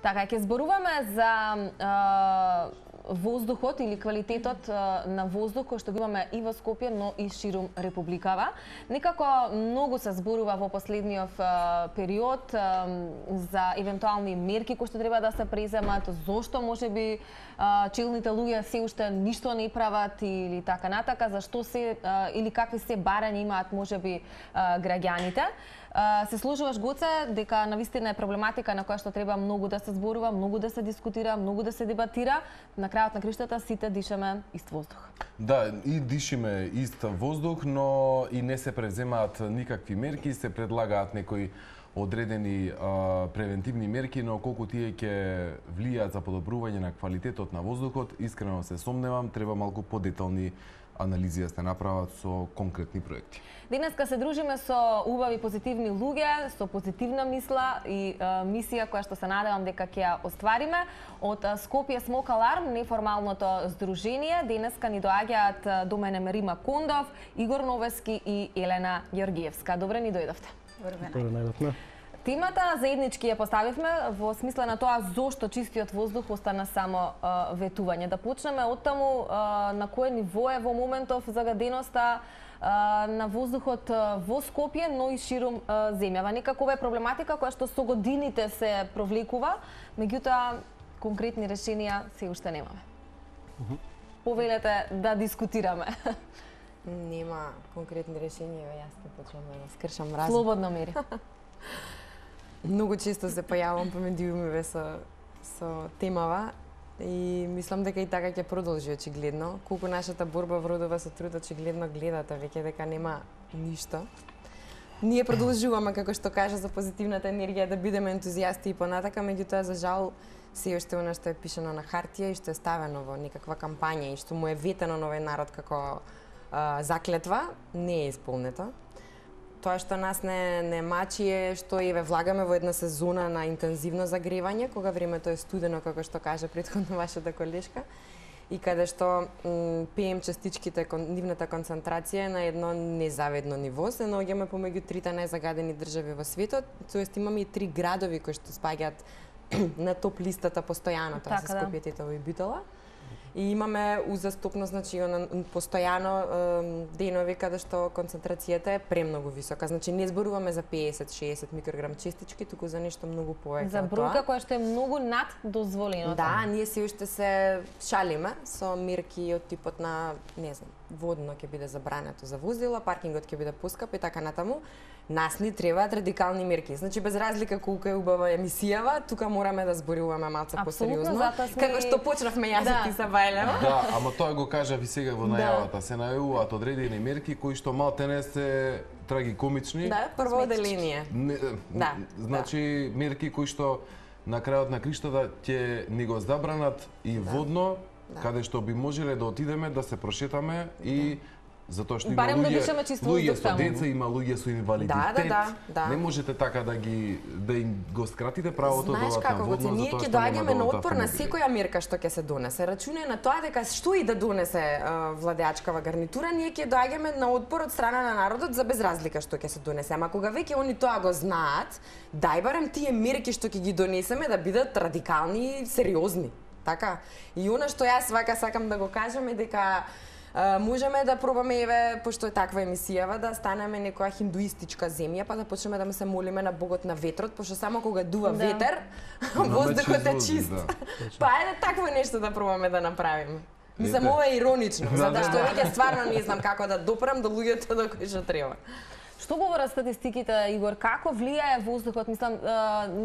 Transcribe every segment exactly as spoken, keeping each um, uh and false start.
Така, ќе зборуваме за а, воздухот или квалитетот а, на воздух кој што го имаме и во Скопје, но и ширум републикава. Некако многу се зборува во последниот а, период а, за евентуални мерки кои што треба да се преземат, зошто можеби а, челните луѓе се уште ништо не прават или така натака, зашто се а, или какви се барања имаат можеби а, граѓаните. Uh, се сложуваш, Гоце, дека навистина е проблематика на која што треба многу да се зборува, многу да се дискутира, многу да се дебатира. На крајот на криштата сите дишаме ист воздух. Да, и дишиме ист воздух, но и не се преземаат никакви мерки, се предлагаат некои одредени а, превентивни мерки, но колку тие ќе влијаат за подобрување на квалитетот на воздухот, искрено се сомневам, треба малку подетални анализи да се направат со конкретни проекти. Денеска се дружиме со убави позитивни луѓе, со позитивна мисла и е, мисија која што се надевам дека ќе ја оствариме. Од Скопје Смок Аларм, неформалното здружение, денеска ни доаѓаат до мене Рима Кондов, Игор Новески и Елена Ѓоргиевска. Добре ни дојдовте. Добре најдовме. Темата заеднички ја поставивме во смисла на тоа зошто чистиот воздух остана само а, ветување. Да почнеме од таму а, на кое ниво е во моментов загаденоста а, на воздухот во Скопје, но и ширум а, земјава. Некако ова е проблематика која што со годините се провлекува, меѓутоа конкретни решенија се уште немаме. Uh -huh. Повелете да дискутираме. Нема конкретни решенија, јас ќе почнам да скршам разум. Слободно, Мери. Многу често се појавам по медиумиве со, со темава и мислам дека и така ќе продолжи очигледно. Колку нашата борба вродува со труд, очигледно гледате веќе дека нема ништо. Ние продолжуваме, како што кажа, за позитивната енергија да бидеме ентузијасти и понатака, меѓутоа за жал се уште она што е пишано на хартија и што е ставено во некаква кампања и што му е ветено на овој народ како а, заклетва, не е исполнето. Тоа што нас не, не мачи е што еве влагаме во една сезона на интензивно загревање, кога времето е студено, како што каже претходно вашата колешка, и каде што пи ем частичките, нивната концентрација е на едно незавидно ниво, се наоѓаме помеѓу трите најзагадени држави во светот, тоест имаме и три градови кои што спаѓаат на топ листата постојано, тоа се Скопје, Тетово и Битола. И имаме узастопно, значи, постојано денови каде што концентрацијата е премногу висока. Значи, не зборуваме за петдесет до шеесет микрограм частички, туку за нешто многу повеќе. За бројка која што е многу над дозволеното. Да, ние се уште се шалиме со мерки од типот на, не знам, водно ќе биде забрането за возила, паркингот ќе биде поскап и така натаму. Нас ни требаат радикални мерки. Значи, без разлика колку е убава емисијава, тука мораме да зборуваме малце посериозно. Сме... Како што почнавме јас да. и ти са Бајлева. Да, ама тоа го кажав и сега во најавата. Се најавуваат одредени мерки кои што малтене се трагикомични. Да, прво оделение. Не, да, значи, да. мерки кои што на крајот на криштата ќе ни го забранат и да. водно, да. каде што би можеле да отидеме да се прошетаме и затоа што има барем луѓе, да луѓе со деца, има луѓе со инвалидитет. Да, да, да. Не можете така да ги да им го скратите правото да одат на водно. Знаеш како, ние ќе доаѓаме на отпор на секоја мерка што ќе се донесе. Рачунај на тоа дека што и да донесе uh, владеачкава гарнитура, ние ќе доаѓаме на отпор од страна на народот за без разлика што ќе се донесе. Ама кога веќе они тоа го знаат, дај барем тие мерки што ќе ги донесеме да бидат радикални и сериозни. Така? И она што јас вака сакам да го кажам е дека Uh, можеме да пробаме, еве, пошто е таква емисијава, да станеме некоја хиндуистичка земја, па да почнеме да му се молиме на богот на ветрот, пошто само кога дува да. ветер, воздухот е чист. Да. Па ајде такво нешто да пробаме да направиме. Мислам, ова е иронично, затоа што веќе стварно не знам како да допрам до луѓето до кои што треба. Што говорат статистиките, Игор? Како влијае воздухот? Мислам,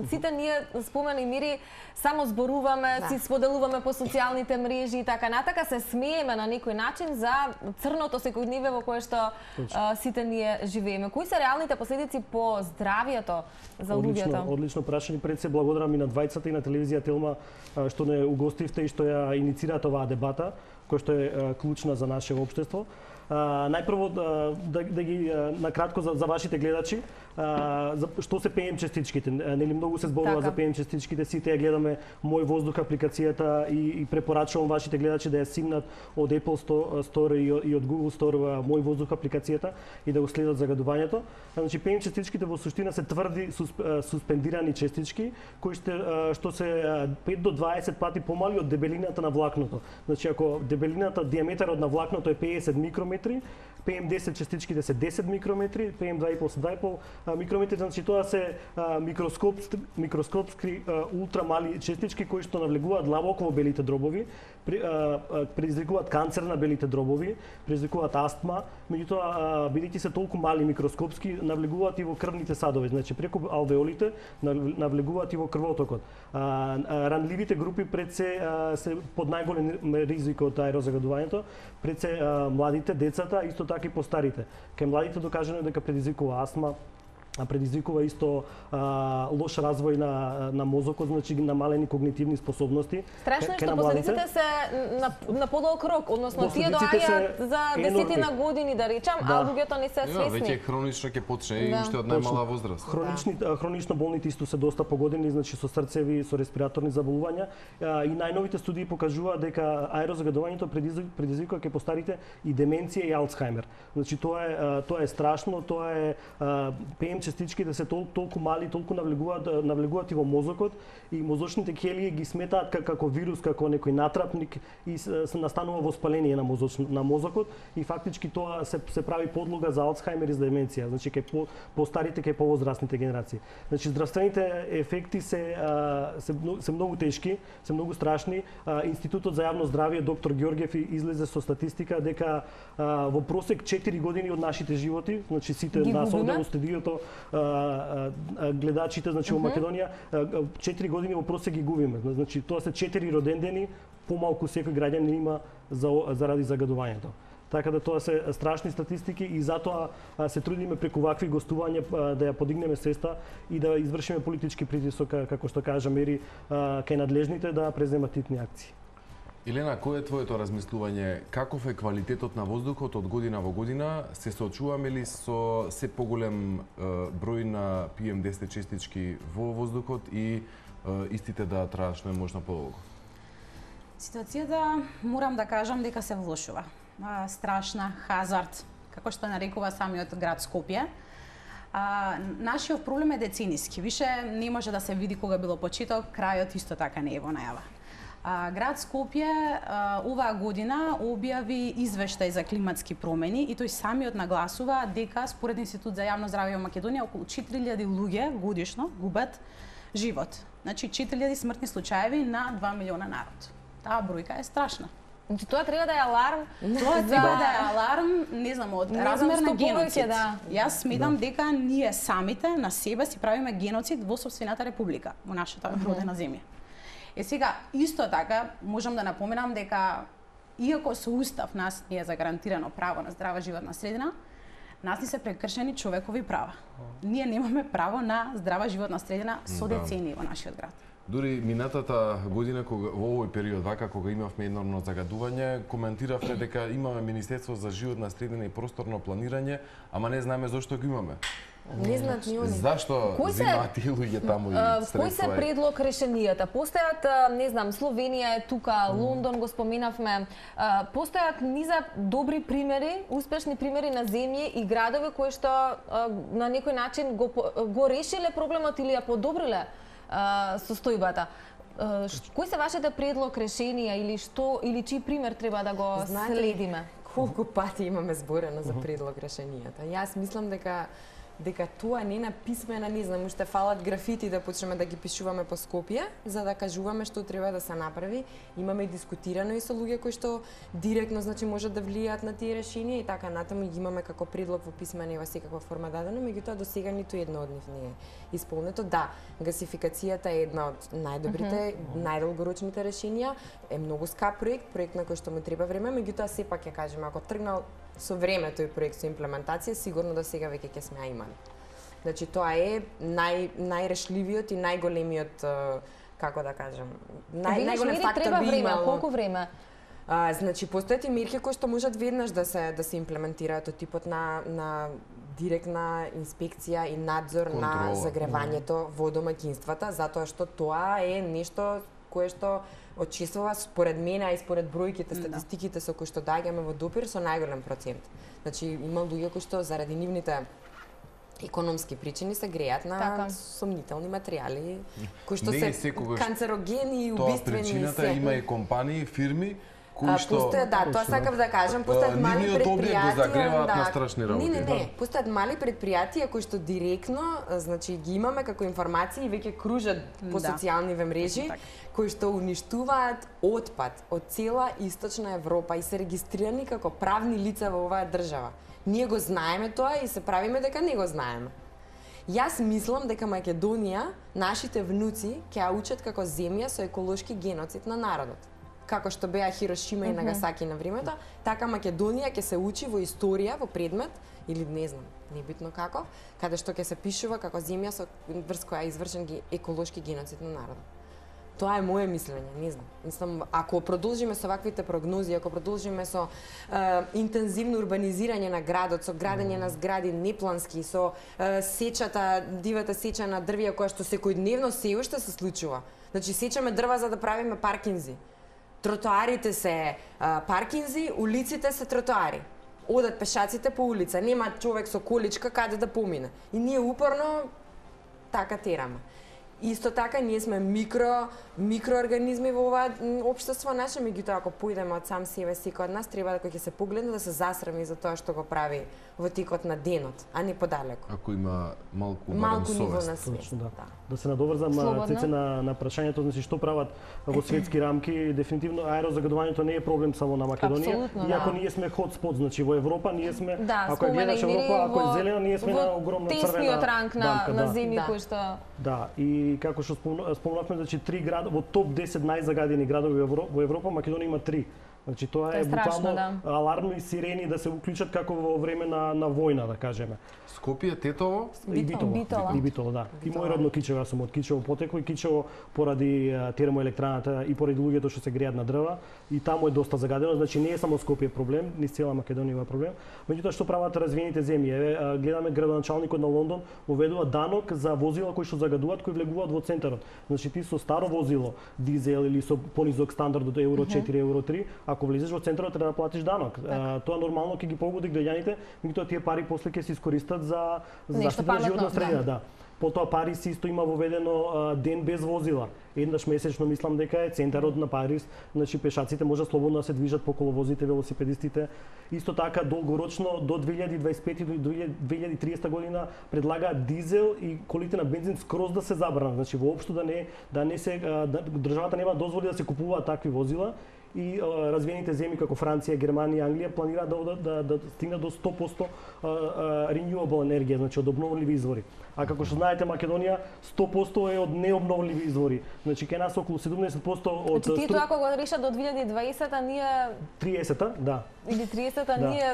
сите ние спомена и Мири, само зборуваме, да. си споделуваме по социјалните мрежи и така натака, се смееме на некој начин за црното секојдневие во кое што а, сите ние живееме. Кои се реалните последици по здравието за луѓето? Одлично, одлично прашање. Пред се благодарам и на двајцата и на телевизија Телма што не угостивте и што ја иницирате оваа дебата, која што е клучна за нашето општество. А, најпрво да, да, да ги накратко за, за вашите гледачи, а, за што се пе ем частичките. Нели многу се зборува Така. за пе ем частичките, сите ја гледаме Мој воздух апликацијата и, и препорачувам вашите гледачи да ја симнат од Apple Store и, и од Google Store Мој воздух апликацијата и да го следат загадувањето. Значи пе ем частичките во суштина се тврди сусп, суспендирани частички кои ще, што се пет до дваесет пати помали од дебелината на влакното. Значи ако дебелината, диаметерот на влакното е педесет микрометри, пе ем десет частичките се десет микрометри, пе ем два и пол се два и пол микрометри, значи тоа се а, микроскопски, микроскопски а, ултрамали частички кои што навлегуваат длабоко во белите дробови, при, а, а, предизвикуваат канцер на белите дробови, предизвикуваат астма, меѓутоа бидејќи се толку мали микроскопски, навлегуваат и во крвните садови, значи преку алвеолите навлегуваат и во крвотокот. А, а, ранливите групи пред се а, се под најголем ризик од аерозагадувањето, пред се а, младите, децата, исто така и постарите. Кај младите докажано е дека предизвикува астма, предизвикува исто а, лош развој на, на мозокот, значи намалени когнитивни способности. Страшно е што последиците се на, на подолг рок, односно тие доаѓаат за десетина години, да речам, да. А луѓето не се свесни. Веќе хронично ќе почне и да. уште од најмала возраст. Хронични, да. Хронично болните исто се доста погодени, значи со срцеви, со респираторни заболувања. И најновите студии покажуваат дека аерозагадувањето предизвикува кај постарите и деменција и Алцхаймер. Значи тоа е тоа е страшно, тоа е пе ем частичките се тол, толку мали, толку навлегуваат навлегуваат и во мозокот и мозочните келии ги сметаат как, како вирус, како некој натрапник и се, се настанува воспаление на мозоч, на мозокот и фактички тоа се се прави подлога за Алцхаймер и за деменција, значи кај по, постарите кај повозрастните генерации. Значи здравствените ефекти се се, се многу тешки, се многу страшни. Институтот за јавно здравје доктор Ѓорѓев излезе со статистика дека во просек четири години од нашите животи, значи сите нас овде во студиото, гледачите, значи во Македонија, четири години во просек ги губиме. Значи тоа се четири родендени, помалку секој граѓанин има за, заради загадувањето. Така да тоа се страшни статистики и затоа се трудиме преку вакви гостувања да ја подигнеме свеста и да извршиме политички притисок, како што кажа Мери, кај надлежните да преземат титни акции. Елена, кој е твоето размислување? Каков е квалитетот на воздухот од година во година? Се соочуваме ли со се поголем е, број на пе ем десет частички во воздухот и е, истите да траат што е можно подолго? Ситуацијата, морам да кажам дека се влошува. А, страшна, хазард, како што нарекува самиот град Скопје. А, нашиот проблем е децениски. Више не може да се види кога било почеток, крајот исто така не е во најава. А, град Скопје а, оваа година објави извештај за климатски промени и тој самиот нагласува дека според Институт за јавно здравје во Македонија околу четири илјади луѓе годишно губат живот. Значи четири илјади смртни случаеви на два милиона народ. Таа бројка е страшна. Значи тоа треба да е аларм. Тоа за... треба да е аларм, не знам, од не размер знам, на геноцид. Да. Јас сметам да. дека ние самите на себе си правиме геноцид во сопствената република, во нашата mm -hmm. родена земја. Е сега, исто така, можам да напоменам дека, иако со Устав нас не е загарантирано право на здрава животна средина, нас ни се прекршени човекови права. Ние немаме право на здрава животна средина со децении во нашиот град. Дури минатата година, кога, во овој период, вака, кога имавме енормно загадување, коментиравме дека имаме Министерство за животна средина и просторно планирање, ама не знаеме зошто го имаме. Не знаат ни они. Зашто земаат тие луѓе таму и средства? Кои се предлог решенијата? Постојат, не знам, Словенија е тука, Лондон го споменавме. Постојат низа добри примери, успешни примери на земји и градови кои што на некој начин го го решиле проблемот или ја подобриле состојбата. Кои се вашите предлог решенија или што или чиј пример треба да го Знаете, следиме? Колку пати имаме зборено за предлог решенијата. Јас мислам дека дека тоа не на писмена, не знам, уште фалат графити да почнеме да ги пишуваме по Скопје, за да кажуваме што треба да се направи. Имаме и дискутирано и со луѓе кои што директно, значи, можат да влијаат на тие решенија и така натаму ги имаме како предлог во писмена и во секаква форма дадено, меѓутоа до сега ниту едно од нив не е исполнето. Да, гасификацијата е една од најдобрите, mm -hmm. најдолгорочните решенија, е многу скап проект, проект на кој што му треба време, меѓутоа сепак ја кажем, ако тргнал со времето и проект со имплементација, сигурно до сега веќе ќе сме ја имали. Значи тоа е нај најрешливиот и најголемиот, како да кажам, нај најголем фактор треба би време, имало. колку време? А, значи постојат и мерки кои што можат веднаш да се да се имплементираат од типот на на директна инспекција и надзор Контрола. на загревањето во домаќинствата, затоа што тоа е нешто кое што очисува според мене, а и според бројките, статистиките со кои што доаѓаме во допир со најголем процент. Значи има луѓе кои што заради нивните економски причини се греат на Така. сомнителни материјали кои што Не се е секогаш канцерогени и Тоа убиствени. причината има и компании, фирми кои А, што постојат, да, тоа сакав да кажам, постојат А, мали нивниот објект го предпријатија, загреваат да. на страшни работи. Не, не, не, постојат мали предпријатија кои што директно, а, значи ги имаме како информации и веќе кружат по Да. социјалниве мрежи, Така. кои што уништуваат отпад од цела Источна Европа и се регистрирани како правни лица во оваа држава. Ние го знаеме тоа и се правиме дека не го знаеме. Јас мислам дека Македонија, нашите внуци, ќе ја учат како земја со еколошки геноцид на народот. Како што беа Хирошима и Нагасаки на времето, така Македонија ќе се учи во историја, во предмет, или не знам, небитно како, каде што ќе се пишува како земја со врз која е извршен ге- еколошки геноцид на народот. Тоа е моје мислење, не знам. Мислам, ако продолжиме со ваквите прогнози, ако продолжиме со е, интензивно урбанизирање на градот, со градење на згради неплански, со е, сечата, дивата сеча на дрвја која што секојдневно се уште се случува. Значи сечаме дрва за да правиме паркинзи. Тротоарите се а, паркинзи, улиците се тротоари. Одат пешаците по улица, нема човек со количка каде да помине. И ние упорно така тераме. Исто така ние сме микро микроорганизми во ова општество наше, меѓутоа ако појдеме од сам себе секој од нас треба да кога ќе се погледне да се засрами за тоа што го прави во текот на денот, а не подалеку. Ако има малку Малку барем ниво на совест. свест. Точно, да. Да. Да се надоврзам Слободно. Цеце на на прашањето, значи што прават во светски рамки, дефинитивно аерозагадувањето не е проблем само на Македонија, Апсолутно, иако да. ние сме хотспот, значи во Европа ние сме, Да, ако ја спомена гледаш и Мири, Европа, ако е во- зелена, ние сме во на огромна тесниот црвена ранг на, дамка, на да. земји Да. кои што Да, и како што спомна- спомнавме, значи три града во топ десет најзагадени градови во Евро- во Европа, Македонија има три. Значи тоа Тоа е, е страшно, буквално да. алармни сирени да се уклучат како во време на на војна, да кажеме. Скопје, Тетово, И Битола. Битола. И Битола, да. И Битола. мој родно Кичево, јас сум од Кичево потекло и Кичево поради а, термоелектраната и поради луѓето што се греат на дрва и таму е доста загадено, значи не е само Скопје проблем, низ цела Македонија има проблем. Меѓутоа што прават развиените земји? Еве а, гледаме градоначалникот на Лондон уведува данок за возила кои што загадуваат, кои влегуваат во центарот. Значи ти со старо возило, дизел или со понизок стандард од евро четири, евро три, ако влезеш во центарот треба да платиш данок. А, тоа нормално ќе ги погоди граѓаните, меѓутоа тие пари после ќе се искористат за за Нешто заштита на животна паметно, средина, да. Потоа Парис исто има воведено а, ден без возила. Еднаш месечно мислам дека е центарот на Парис, значи пешаците може слободно да се движат по коловозите, велосипедистите. Исто така долгорочно до две илјади дваесет и пета до две илјади и триесета година предлагаат дизел и колите на бензин скроз да се забранат. Значи воопшто да не да не се а, да, државата нема дозволи да се купуваат такви возила и а, развиените земји како Франција, Германија, Англија планираат да одат да, да, да стигнат до сто посто а, а, renewable енергија, значи од обновливи извори. А како што знаете Македонија сто посто е од необновливи извори. Значи кај нас околу седумдесет посто од Значи тие стру- тоа ако го решат до две илјади и дваесета ние триесета, да. или тридесета Да. ние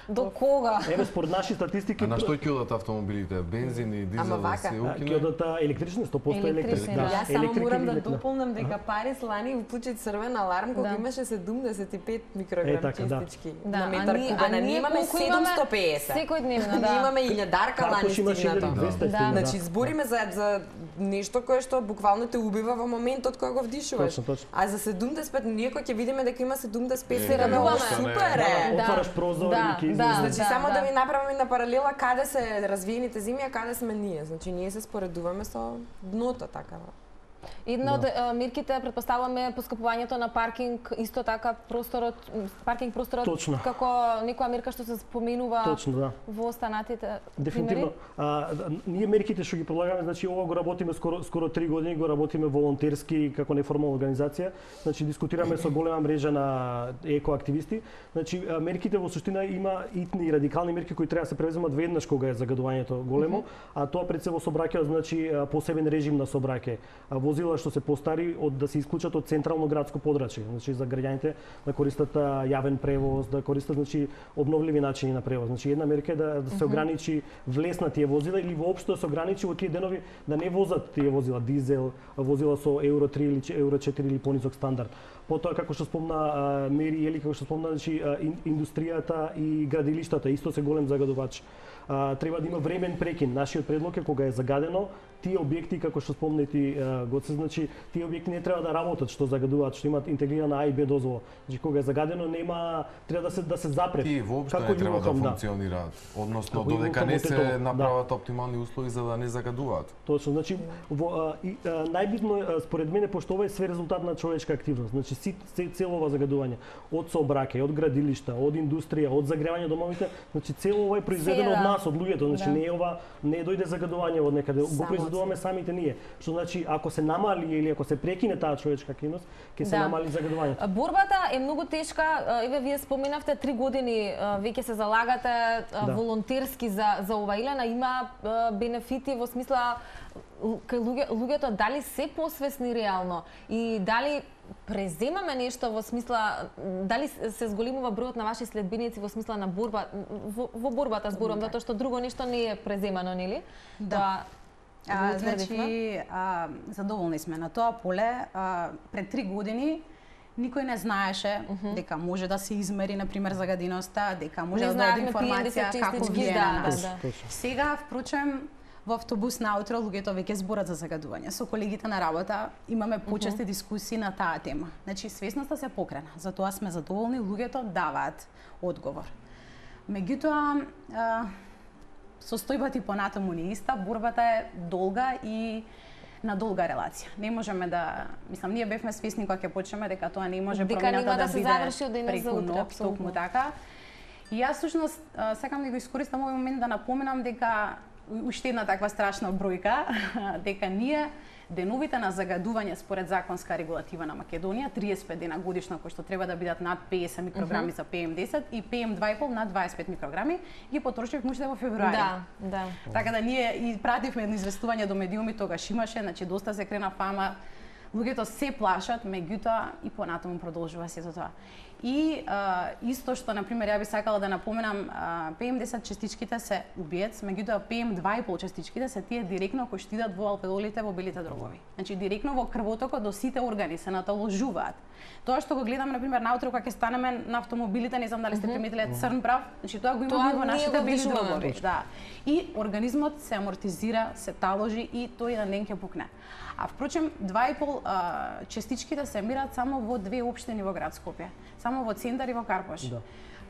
до кога? Еве според наши статистики а на што ќе одат автомобилите? Бензин и дизел Ама да вака. се а, ќе укине? одат а, електрични, сто посто Електрични, електрични. да. Јас само Електрика морам или да ветна. дополнам дека Парис лани вклучи црвен аларм кога Да. имаше седумдесет и пет Е, микрограм така, да. честички Да, на метар а ние- кубен, а а ние имаме колку имаме седумсто педесет. секојдневно, да. Ние имаме илјадарка лани Картош имаше стигнато. илјади и двесте Да. стигна, Значи збориме за за нешто кое што буквално те убива во моментот кога го вдишуваш. Точно, точно. А за седумдесет и пет ние кога ќе видиме дека има седумдесет и пет Е, се радуваме. радуваме. Супер Да, е. Да. отвараш прозор Да, и ќе да. излезе. Значи Да, само да да. ви направиме на паралела каде се развиените земји, а каде сме ние. Значи ние се споредуваме со дното така. Една од е, мерките претпоставуваме поскапувањето на паркинг, исто така просторот, м, паркинг просторот Точно. како некоја мерка што се споменува Точно, да. во останатите Дефинитивно. примери. А, да, ние мерките што ги предлагаме, значи ова го работиме скоро скоро три години, го работиме волонтерски како неформална организација. Значи дискутираме со голема мрежа на екоактивисти. Значи а, мерките во суштина има итни и радикални мерки кои треба да се превземат веднаш кога е загадувањето големо, а тоа пред се во собраќајот значи а, посебен режим на собраќај. А, возила што се постари од да се исклучат од централно градско подрачје, значи за граѓаните да користат јавен превоз, да користат значи обновливи начини на превоз. Значи една мерка е да, да се ограничи влез на тие возила или воопшто да се ограничи во тие денови да не возат тие возила дизел, возила со евро три или евро четири или понисок стандард. Потоа како што спомна Мери или како што спомна значи индустријата и градилиштата исто се голем загадувач. А, треба да има времен прекин. Нашиот предлог е кога е загадено, тие објекти како што спомна ти Гоце, значи тие објекти не треба да работат што загадуваат, што имаат интегрирана А и Б дозвола. Значи кога е загадено нема треба да се да се запре. Тие воопшто не треба да функционираат, односно додека не се направат да. оптимални услови за да не загадуваат. Точно, значи во а, и, а, најбитно е според мене пошто ова е све резултат на човечка активност. Значи си цело ова загадување од сообраќај, од градилишта, од индустрија, од загревање домовите, значи цело ова е произведено од нас, од луѓето, значи да. не е ова не дојде загадување од некаде, го произведуваме самите ние. Што значи ако се намали или ако се прекине таа човечка активност, ќе се да. намали загадувањето. Борбата е многу тешка. Еве вие споменавте три години веќе се залагате да. волонтерски за за ова Илена, има бенефити во смисла кај луѓе, луѓето дали се посвесни реално и дали преземаме нешто во смисла дали се зголемува бројот на ваши следбеници во смисла на борба во, во борбата зборам, затоа што друго нешто не е преземано, нели? Да. А, значи, а, задоволни сме на тоа поле. А, пред три години никој не знаеше uh -huh. дека може да се измери, например, загаденоста, дека може не да дојде информација како влијае на нас. Да, да. Сега, впрочем, во автобус наутро луѓето веќе зборат за загадување. Со колегите на работа имаме почести uh -huh. дискусии на таа тема. Значи, свесноста се покрена. Затоа сме задоволни, луѓето даваат одговор. Меѓутоа, состојбата и понатаму не иста, борбата е долга и на долга релација. Не можеме да, мислам, ние бевме свесни кога ќе почнеме дека тоа не може промената да, да биде заврши од денес за утре, токму така. И јас всушност сакам да го искористам овој момент да напоменам дека уште една таква страшна бројка, дека ние деновите на загадување според законска регулатива на Македонија, триесет и пет дена годишно кои што треба да бидат над педесет микрограми uh -huh. за П М десет и П М два и пол над дваесет и пет микрограми, ги потрошивме уште во февруари. Да, да. Така да ние и пративме едно известување до медиуми, тогаш имаше, значи доста се крена фама, луѓето се плашат, меѓутоа и понатаму продолжува сето тоа. И а, исто што, например, ја би сакала да напоменам, а, П М десет частичките се убиец, меѓутоа П М два и пол частичките се тие директно кои што идат во алпедолите, во белите дробови. Значи директно во крвотокот до сите органи се наталожуваат. Тоа што го гледам, например, наутро кога ќе станеме на автомобилите, не знам дали сте приметиле црн прав, значи тоа го имаме во нашите бели дробови. Да. И организмот се амортизира, се таложи и тој еден ден ќе пукне. А впрочем, два и пол а, частичките се емират само во две општини во град Скопје. Само во Центар и во Карпош. Да.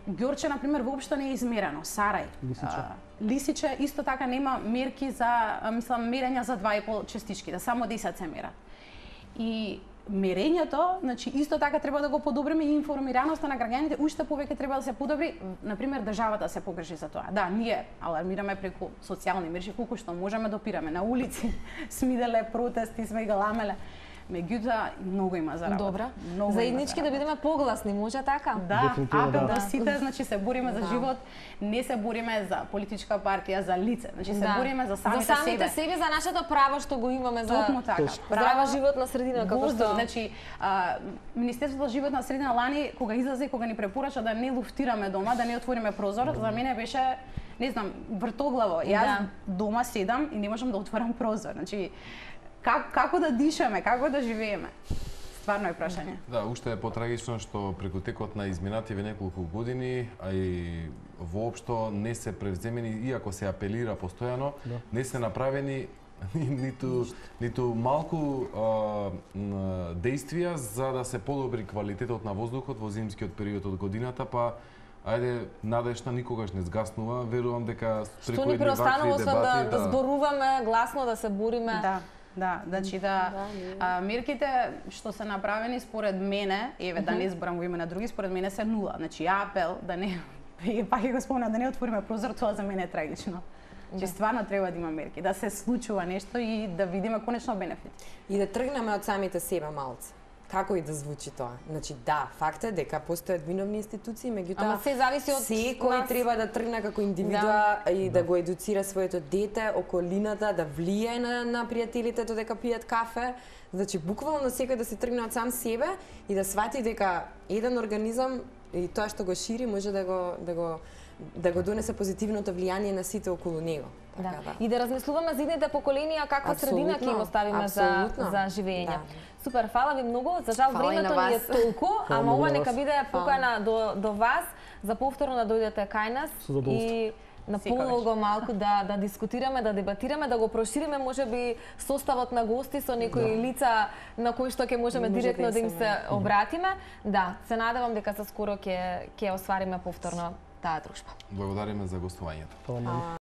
Ѓорче, например, воопшто не е измерено. Сарај. Лисиче. А, Лисиче исто така нема мерки за, мислам, мерења за два и пол частичките. Само десет се мерат. И мерењето, значи исто така треба да го подобриме и информираноста на граѓаните уште повеќе треба да се подобри, например државата се погрижи за тоа. Да, ние алармираме преку социјални мрежи колку што можеме, допираме на улици, смиделе протести, сме галамеле. Меѓутоа, многу има за работа. Добра. Заеднички да бидеме погласни, може така? Да, апел до сите, значи се бориме за живот, не се бориме за политичка партија, за лице, значи се да. бориме за самите себе. За самите себе, за нашето право што го имаме за Токму така. Здрава животна средина, како што. Значи, а, Министерството за животна средина лани кога излезе, кога ни препорача да не луфтираме дома, да не отвориме прозор, за мене беше, не знам, вртоглаво. Јас да. дома седам и не можам да отворам прозор. Значи, Как, како да дишаме, како да живееме? Стварно е прашање. Да, уште е потрагично што преку текот на изминативе неколку години, а и воопшто не се превземени, иако се апелира постојано, да. не се направени ниту ниту малку а, действија за да се подобри квалитетот на воздухот во зимскиот период од годината, па ајде, надежта никогаш не згаснува. Верувам дека преку едни вакви дебати да, да зборуваме гласно, да се бориме. Да. Да, значи да, а, мерките што се направени според мене, еве да не зборам во име на други, според мене се нула. Значи апел да не пак ќе го спомнам да не отвориме прозор, тоа за мене е трагично. Че стварно треба да има мерки, да се случува нешто и да видиме конечно бенефит. И да тргнеме од самите себе малце. како и да звучи тоа. Значи да, факт е дека постојат виновни институции, меѓутоа Ама се зависи од секој нас. треба да тргне како индивидуа Да. и да го едуцира своето дете, околината, да влијае на, на пријателите додека пијат кафе. Значи буквално секој да се тргне од сам себе и да свати дека еден организам и тоа што го шири може да го да го да го донесе позитивното влијание на сите околу него. Да. Така да. И да размислуваме за идните поколенија каква средина ќе им оставиме за апсолутно. за живење. Да. Супер, фала ви многу. За жал Фала и времето на ни е вас. толку, Фала ама многу ова на нека вас. биде покана до до вас за повторно да дојдете кај нас Со задоволство. и на Секогаш. полого малку да да дискутираме, да дебатираме, да го прошириме можеби составот на гости со некои лица на кои што ќе можеме Може директно да да им се, се обратиме. Да, се надевам дека за скоро ќе ќе оствариме повторно таа дружба. Благодариме за гостувањето. Фала многу.